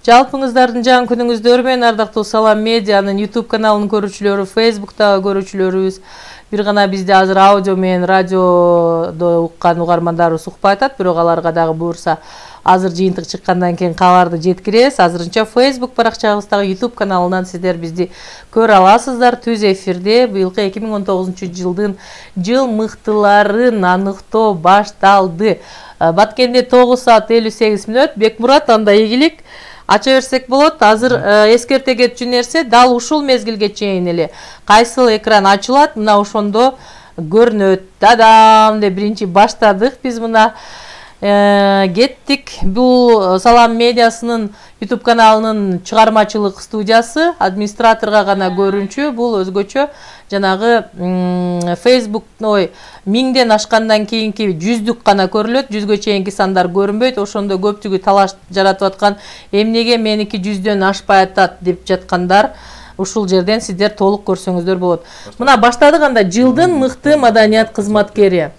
Жалпыңыздардын жан күнүңүздөр менен ардактуу Салам медианын YouTube каналынын көрүүчүлөрү, Facebook'тагы көрүүчүлөрүбүз, бир гана бизди азыр аудио менен радиодо уккан угармандарыбыз укпай атат, бирок аларга дагы буюрса азыр жыйынтык чыккандан кийин кабарды жеткиребиз. Азырынча Facebook баракчабыздагы YouTube каналынан сиздер бизди көрө аласыздар. Түз эфирде быйылкы 2019 жыл мыктыларын аныктоо башталды. Баткенде 9 саат 58 мүнөт. Бекмурат, анда ийгилик ача берсек болот. Азыр эскерте кетчү нерсе, дал ушул мезгилге чейин эле кайсыл экран ачылат, мына ошондо көрүнөт. Дадам деп биринчи баштадык биз, мына кеттик. Бул Салам медиасынын YouTube каналынын чыгармачылык студиясы, администраторго гана көрүнчү. Бул өзгөчө жанагы Facebook 1000ден ашкандан кийинки 100дүк гана көрүлөт, 100гө чейинки сандар көрүнбөйт. Ошондо көпчүгү талаш жаратып аткан, эмнеге меники 100дөн ашпай атат деп жаткандар, ушул жерден сиздер толук көрсөңүздөр болот. Мына баштадык. Анда жылдын мыкты маданият кызматкери.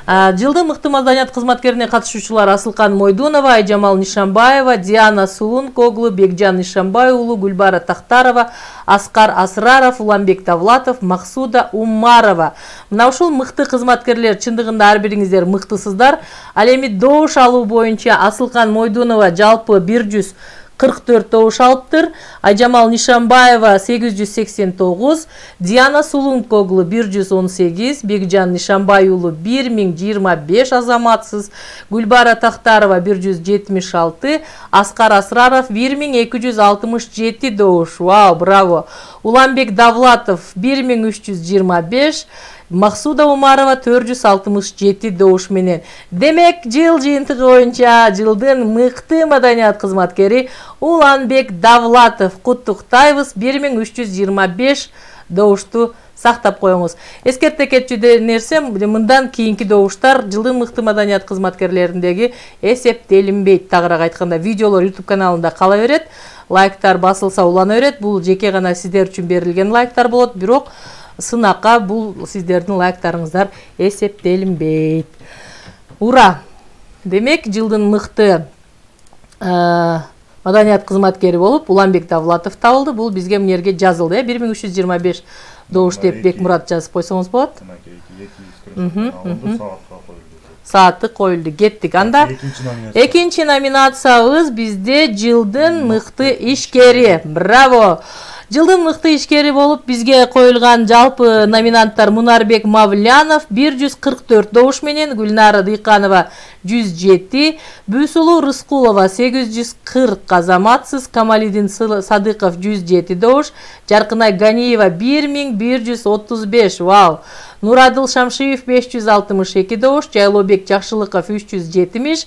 Жылдын мыкты маданият кызматкерине катышуучулар Асылкан Мойдунова, Айжамал Нишанбаева, Диана Сулункоглу, Бекжан Нишанбай уулу, Гүлбара Тахтарова, Аскар Асраров, Уламбек Давлатов, Максуда Умарова. Мына ушул мыкты кызматкерлер, чындыгында ар бириңиздер мыктысыздар. Ал эми добуш алуу боюнча Асылкан Мойдунова жалпы 144 добуш алыптыр. Айжамал Нишанбаева 889, Диана Сулункоглу 118, Бекжан Нишанбай уулу 1025 азаматсыз, Гүлбара Тахтарова 176, Аскар Асраров 1267 добуш. Вау, браво. Уламбек Давлатов 1325, Максуда Умарова 467 добуш менен. Демек, жыл жыйынтыгы боюнча жылдын мыкты маданият кызматкери Уланбек Давлатов. Куттуктайбыз, 1325 добушту сактап коюңуз. Эскерте кетчү нерсе, мындан кийинки добуштар жылдын мыкты маданият кызматкерлериндеги эсептелинбейт. Тагыраак айтканда, видеолор YouTube каналында кала берет. Лайктар басылса улана берет. Бул жеке гана сиздер үчүн берилген лайктар болот, бирок сынакка бул сиздердин лайктарыңыздар эсептелинбейт. Ура! Демек, жылдын мыкты маданият кызматкери болуп Уланбек Давлатов табылды. Бул бизге мынерге жазылды, 1325 добуш деп Бекмурат жазып койсоңуз болот. Сааты коюлду. Кеттик. Анда экинчи номинациябыз бизде жылдын мыкты ишкери. Браво! Жылдын мыкты ишкери болуп бизге коюлган жалпы номинанттар: Мунарбек Мавлянов 144 добуш менен, Гүлнара Дыйканова 107, Бүсулу Рыскулова 840 азаматсыз, Камалидин Садыков 107 добуш, Жаркынай Ганиева 1135. Вау! Нурадыл Шамшиев 562 добуш, Жайлообек Жакшылыков 370,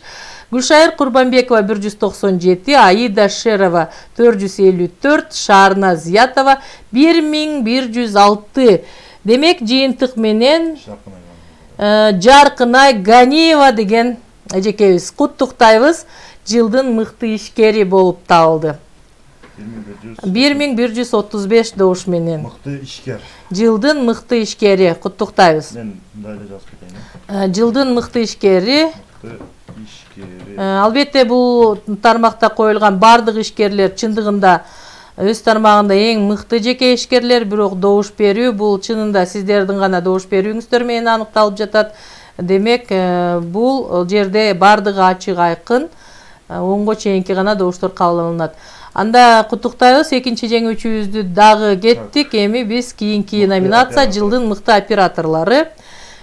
Гүлшайыр Курбанбекова 197, Аида Шерова 454, Шаарна Зиятова 1106. Демек, жыйынтык менен Жаркынай Ганиева деген эжекебиз куттуктайбыз, жылдын мыкты ишкери болуп табылды. 1135 добуш менен. Мыкты ишкер. Жылдын мыкты ишкери, куттуктайбыз. Мен мындайлы жазып кетейин. Жылдын мыкты ишкери. Албетте, бул тармакта коюлган бардык ишкерлер чындыгында өз тармагында эң мыкты жеке ишкерлер, бирок добуш берүү бул чынында сиздердин гана добуш берүүңүздөр менен аныкталып жатат. Демек, бул жерде бардыгы ачык айкын, 10го чейинки гана добуштор кабыл алынат. Анда куттуктайбыз, экинчи жеңүүчүбүздү дагы кеттик. Эми биз кийинки номинация жылдын мыкты операторлору.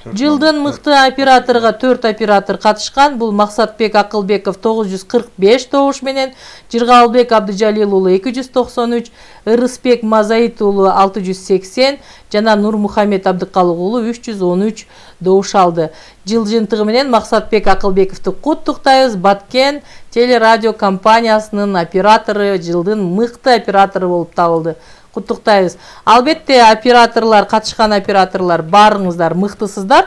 Жылдын мыкты операторго 4 оператор катышкан. Бул Максатбек Акылбеков 945 добуш менен, Жыргалбек Абдыжалил уулу 293, Ырысбек Мазаит уулу 680 жана Нурмухамед Абдыкалык уулу 313 добуш алды. Жыл жыйынтыгы менен Максатбек Акылбековду куттуктайбыз. Баткен телерадио компаниясынын оператору, жылдын мыкты оператору болуп табылды. Куттуктайбыз. Албетте, операторлор, катышкан операторлор баарыңыздар мыктысыздар.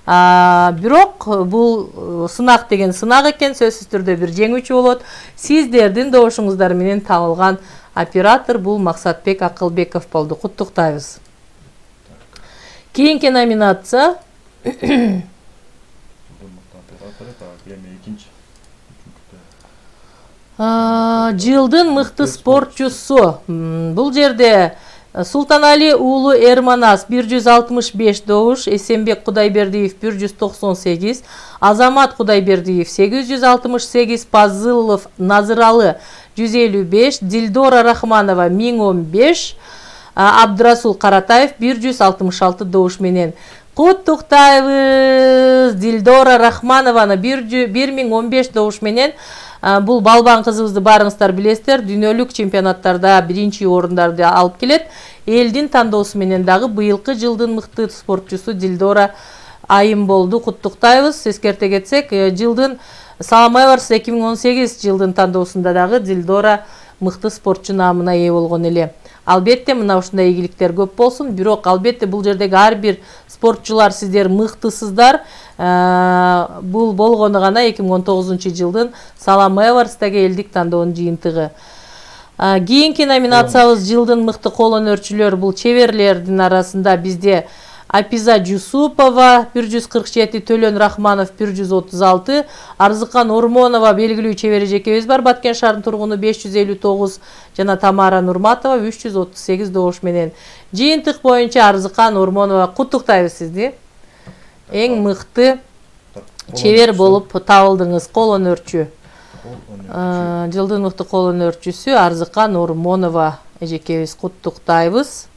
Бирок бул сынак деген сынак экен, сөзсүз түрдө бир жеңүүчү болот. Сиздердин добушуңуздар менен табылган оператор бул Максатбек Акылбеков болду. Куттуктайбыз. Кийинки номинация Жылдын мыкты спортчусу. Бул жерде Султанали уулу Эрманас 165 добуш, Эсенбек Кудайбердиев 198, Азамат Кудайбердиев 868, Пазылов Назыралы 155, Дилдора Рахманова 1015, Абдрасул Каратаев 166 добуш менен. Куттуктайбыз Дилдора Рахманованы 1015 добуш менен. Бул балбан кызыбызды баарыңыздар билесиздер, дүйнөлүк чемпионаттарда биринчи орундарды алып келет. Элдин тандоосу менен дагы быйылкы жылдын мыкты спортчусу Дилдора айым болду. Куттуктайбыз. Эскерте кетсек, жылдын Салам Эварс 2018 жылдын тандоосунда дагы Дилдора мыкты спортчу наамына ээ болгон эле. Албетте мына ушундай ийгиликтер көп болсун, бирок албетте бул жердеги ар бир спортчулар сиздер мыктысыздар. Бул болгону гана 2019 жылдын Салам Эварстагы элдик тандоонун жыйынтыгы. Кийинки номинациябыз жылдын мыкты кол өнөрчүлөр. Бул чеберлердин арасында бизде Апиза Жусупова 147, Төлөн Рахманов 136, Арзыкан Ормонова белгилүү чебер эжекебиз бар, Баткен шаарынын тургуну 559 жана Тамара Нурматова 338 добуш менен. Жыйынтык боюнча Арзыкан Ормонова куттуктайбыз сизди. Эң мыкты чебер болуп табылдыңыз, кол өнөрчү. Жылдын мыкты кол өнөрчүсү Арзыкан Ормонова эжекебиз, куттуктайбыз.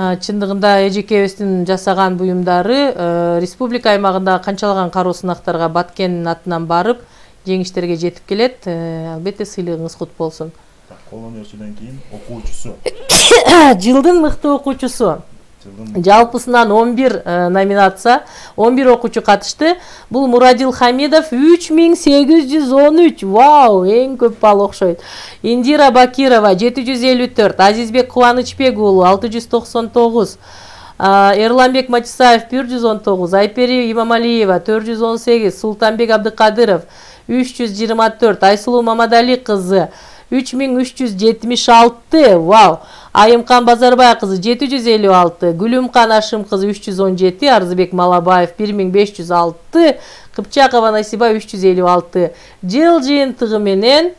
Чындыгында эжекебиздин жасаган буюмдары республика аймагындагы канчалаган кароо сынактарга Баткендин атынан барып, жеңиштерге жетип келет. Албетте сыйлыгыңыз кут болсун. Кол өнөрчүдөн кийин окуучусу. Жылдын мыкты окуучусу. Жалпысынан 11 номинация, 11 окуучу катышты. Бул Мурадил Хамидов 3813. Вау, эң көп балл окшойт. Индира Бакирова 754, Азизбек Кубанычбек уулу 699, Эрламбек Матисаев 119, Айпери Имамалиева 418, Султанбек Абдыкадыров 324, Айсулуу Мамадали кызы 3376. Вау. Айымкан Базарбай кызы 756, Гүлүмкан Ашым кызы 317, Арзыбек Малабаев 1506, Кыпчакова Насиба 356. Жыл жыйынтыгы менен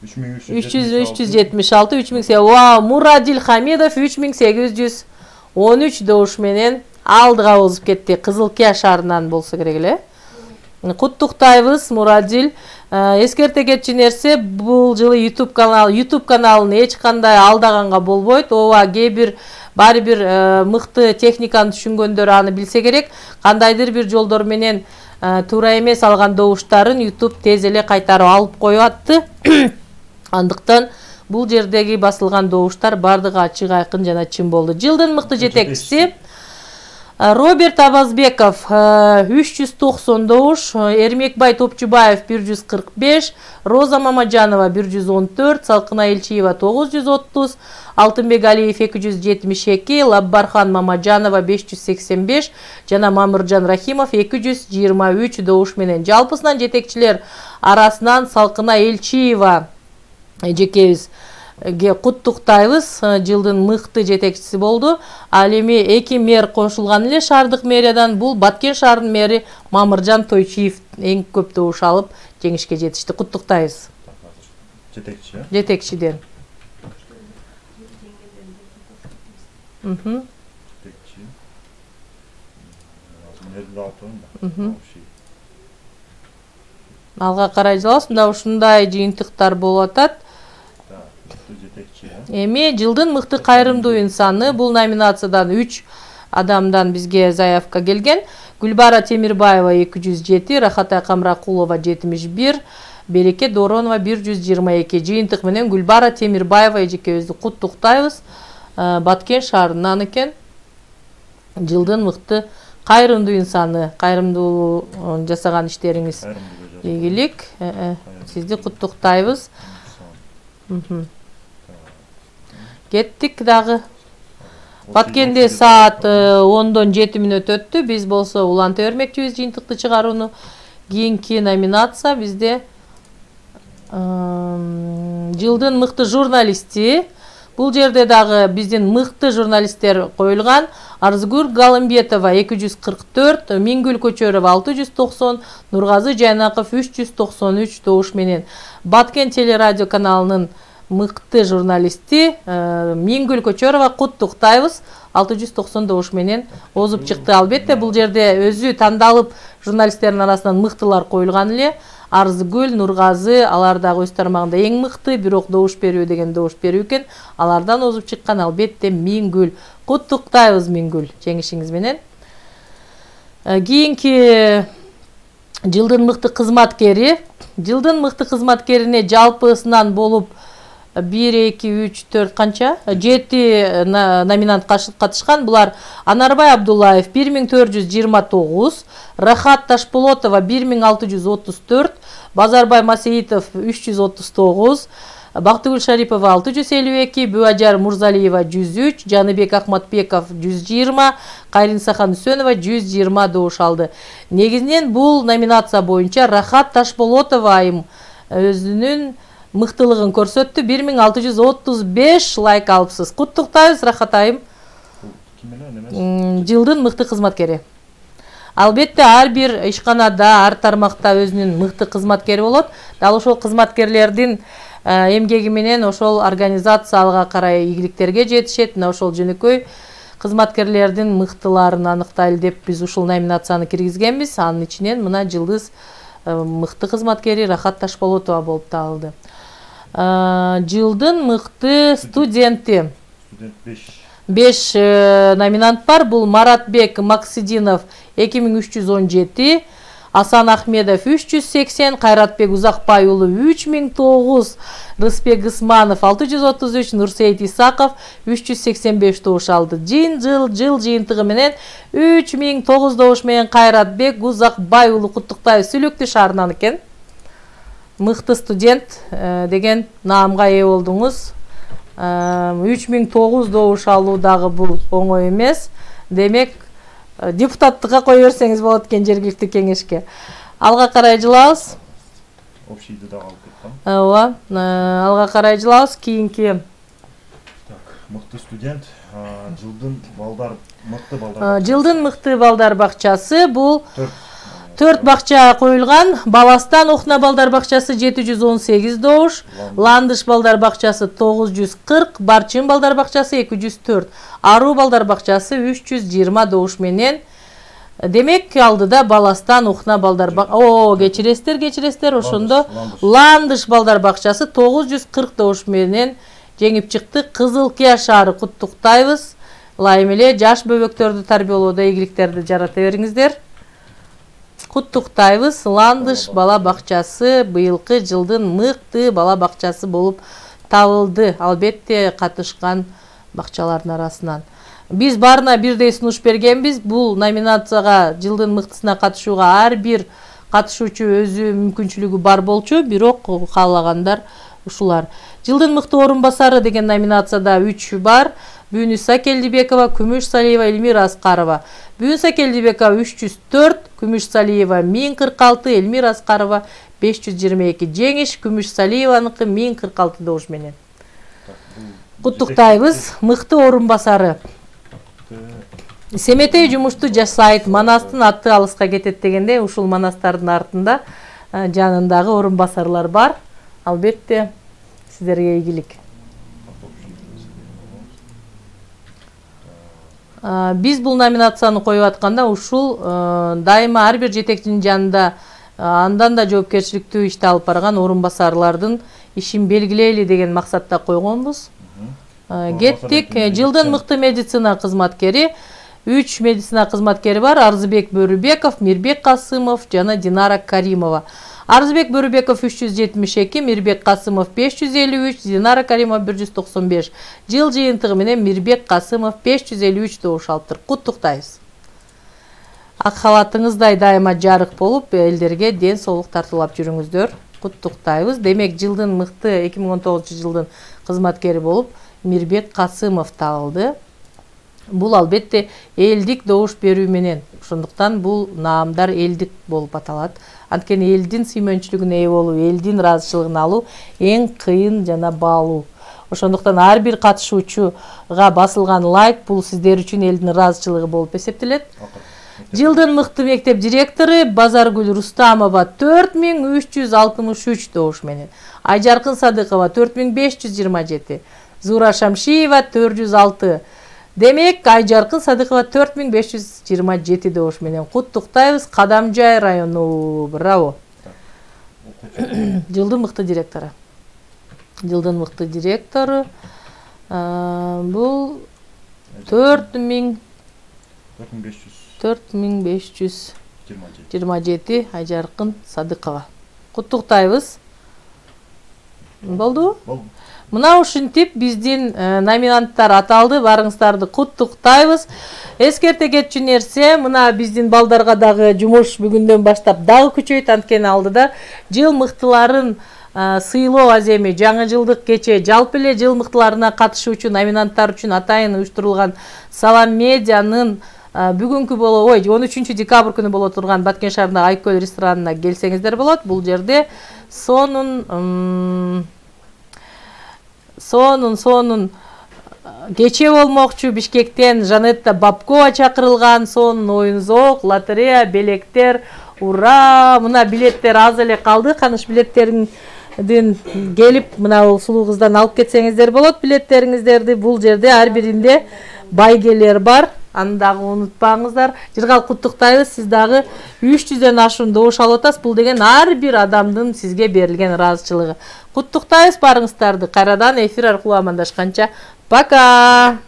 376, 3008. Вау, Мурадил Хамидов 3813 добуш менен алдыга озуп кетти. Кызылкия шаарынан болсо керек эле. Куттуктайбыз, Мурадил. Эскерте кетчү нерсе, бул жылы YouTube каналын эч кандай алдаганга болбойт. Ооба, баары бир мыкты техниканы түшүнгөндөр аны билсе керек. Кандайдыр бир жолдор менен туура эмес алган добуштарын YouTube тез эле кайтарып алып коюп атты. Андыктан бул жердеги басылган добуштар бардыгы ачык айкын жана чын болду. Жылдын мыкты жетекчиси Роберт Абазбеков 390 добуш, Эрмекбай Топчубаев 145, Роза Мамаджанова 114, Салкына Элчиева 930, Алтынбек Алиев 272, Лаббархан Мамаджанова 585 жана Мамыржан Рахимов 223 добуш менен. Жалпысынан жетекчилер арасынан Салкына Элчиева эжекебиз куттуктайбыз, жылдын мыкты жетекчиси болду. Ал эми эки мэр кошулган эле шаардык мэриядан. Бул Баткен шаарынын мэри Мамыржан Тойчиев эң көп добуш алып жеңишке жетишти. Куттуктайбыз. Жетекчи. Жетекчиден. Жетекчи. Алга карай жалабыз. Мында ушундай жыйынтыктар болуп атат. Эми жылдын мыкты кайрымдуу инсаны, бул номинациядан 3 адамдан бизге заявка келген. Гүлбара Темирбаева 207, Рахатай Камракулова 71, Береке Доронова 122. Жыйынтык менен Гүлбара Темирбаева эжекебизди куттуктайбыз. Баткен шаарынан экен. Жылдын мыкты кайрымдуу инсаны, кайрымдуу жасаган иштериңиз ийгилик. Сизди куттуктайбыз. Кеттик дагы. Баткенде саат 10-дон 7 мүнөт өттү. Биз болсо уланта бермекчибиз жыйынтыкты чыгарууну. Кийинки номинация бизде жылдын мыкты журналисти. Бул жерде дагы биздин мыкты журналисттер коюлган. Арзгүл Галымбетова 244, Мингүл Көчөрова 690, Нургазы Жайнаков 393 добуш менен. Баткен телерадио каналынын мыкты журналисти Мингүл Көчөрова куттуктайбыз. 690 добуш менен озуп чыкты. Албетте бул жерде өзү тандалып журналисттердин арасынан мыктылар коюлган эле. Арзгүл, Нургазы, алар дагы өз тармагында эң мыкты, бирок добуш берүү деген добуш берүү экен. Алардан озуп чыккан албетте Мингүл. Куттуктайбыз Мингүл жеңишиңиз менен. Кийинки жылдын мыкты кызматкери. Жылдын мыкты кызматкерине жалпысынан болуп 1, 2, 3, 4 канча? 7 номинант катышкан. Булар Анарбай Абдуллаев 1429, Рахат Ташполотова 1634, Базарбай Масеитов 339, Бактыгүл Шарипова 652, Бүажар Мурзалиева 103, Жаныбек Ахматбеков 120, Кайринсахан Үсөнова 120 добуш алды. Негизинен бул номинация боюнча Рахат Ташполотова айым өзүнүн мыктылыгын көрсөттү. 1635 лайк алыпсыз. Куттуктайбыз Рахат айым. Жылдын мыкты кызматкери. Албетте ар бир ишканада, ар тармакта өзүнүн мыкты кызматкери болот. Дал ошол кызматкерлердин эмгеги менен ошол организация алга карай ийгиликтерге жетишет. Мына ошол жөнөкөй кызматкерлердин мыктыларын аныктайлы деп биз ушул номинацияны киргизгенбиз. Анын ичинен мына жылдыз мыкты кызматкери Рахат Ташполотова болуп табылды. Жылдын мыкты студенти. 5 номинант бар. Бул Маратбек Максидинов 2317, Асан Ахмедов 380, Кайратбек Узакбай уулу 3009, Рыспек Исманов 633, Нурсейит Исаков 385 добуш алды. Жыл жыйынтыгы менен 3009 добуш менен Кайратбек Узакбай уулу куттуктайбыз. Сүлөктү шаарынан экен. Мыкты студент деген наамга ээ болдуңуз. 3009 добуш алуу дагы бул оңой эмес. Демек, депутаттыкка кое берсеңиз болот экен жергиликтүү кеңешке. Алга карай жылабыз. Общийди дагы алып кеткан. Ооба, алга карай жылабыз. Кийинки мыкты студент, жылдын мыкты жылдын мыкты балдар бакчасы бул 4 бакча коюлган. Баластан Охна балдар бакчасы 718 добуш, Ландыш балдар бакчасы 940, Барчын балдар бакчасы 204, Аруу балдар бакчасы 320 добуш менен. Демек алдыда Баластан Охна балдар кечиресиздер, ошондо Ландыш балдар бакчасы 940 добуш менен жеңип чыкты. Кызыл Кия шаары куттуктайбыз. Ылайым эле жаш бөбөктөрдү тарбиялоодо ийгиликтерди жарата бериңиздер. Куттуктайбыз. Ландыш бала бакчасы быйылкы жылдын мыкты бала бакчасы болуп табылды. Албетте катышкан бакчалардын арасынан. Биз баарына бирдей сунуш бергенбиз. Бул номинацияга жылдын мыктысына катышууга ар бир катышуучу өзү мүмкүнчүлүгү бар болчу, бирок каалагандар ушулар. Жылдын мыкты орун басары деген номинацияда 3 бар. Бүүнүса Келдибекова, Күмүш Салиева, Элмира Аскарова. Бүүнүса Келдибекова 304, Күмүш Салиева 1046, Элмира Аскарова 522. Жеңиш Күмүш Салиеваныкы 1046 добуш менен. Куттуктайбыз. Мыкты орун басары. Семетей жумушту жашайт, Манастын аты алыска кетет дегенде, ушул Манастардын артында жанындагы орун басарлар бар. Албетте сиздерге ийгилик. Биз бул номинацияны коюп атканда ушул дайыма ар бир жетекчинин жанында андан да жоопкерчиликтүү ишти алып барган орун басарлардын ишин белгилейли деген максатта койгонбуз. Кеттик. Жылдын мыкты медицина кызматкери 3 медицина кызматкери бар. Арзыбек Бөрүбеков, Мирбек Касымов жана Динара Каримова. Арзыбек Бөрүбеков 372, Мирбек Касымов 553, Динара Каримова 195. Жыл жыйынтыгы менен Мирбек Касымов 553 добуш алыптыр. Куттуктайбыз. Ак халатыңыздай дайыма жарык болуп, элдерге ден соолук тартуулап жүрүңүздөр. Куттуктайбыз. Демек, жылдын мыкты 2019 жылдын кызматкери болуп Мирбек Касымов табылды. Бул албетте элдик добуш берүү менен. Ошондуктан бул наамдар элдик болуп аталат. Анткени элдин сүймөнчүлүгүнө ээ болуу, элдин ыраазычылыгын алуу эң кыйын жана баалуу. Ошондуктан ар бир катышуучуга басылган лайк бул сиздер үчүн элдин ыраазычылыгы болуп эсептелет. Жылдын мыкты мектеп директору Базаргүл Рустамова 4363 добуш менен, Айжаркын Садыкова 4527, Зура Шамшиева 406. Демек, Айжаркын Садыкова 4527 добуш менен куттуктайбыз. Кадамжай району. Браво. Жылдын мыкты директору. Жылдын мыкты директору бул 4527 Айжаркын Садыкова. Куттуктайбыз. Болду? Болду. Мына ушинтип биздин номинанттар аталды. Барыңыздарды куттуктайбыз. Эскерте кетчү нерсе, мына биздин балдарга дагы жумуш бүгүндөн баштап дагы күчөйт, анткени алдыда жыл мыктыларын сыйлоо аземи жаңы жылдык кече жалпы эле жыл мыктыларына катышуучу номинанттар үчүн атайын уюштурулган Салам медианын бүгүнкү 13 декабрь күнү боло турган Баткен шаарындагы Айкөл ресторанына келсеңиздер болот. Бул жерде сонун кече болмокчу. Бишкектен Жанетта Бабкова чакырылган. Сонун оюн-зоок, лотерея, белектер. Ура! Мына билеттер аз эле калды. Каныш билеттериңдин келип мына сулуу кыздан алып кетсеңиздер болот билеттериңиздерди. Бул жерде ар биринде байгелер бар. Аны дагы унутпаңыздар. Жыргал куттуктайбыз. Сиз дагы 300дөн ашуун добуш алып атасыз. Бул деген ар бир адамдын сизге берилген ыраазычылыгы. Куттуктайбыз барыңыздарды. Кайрадан эфир аркылуу амандашканча пока.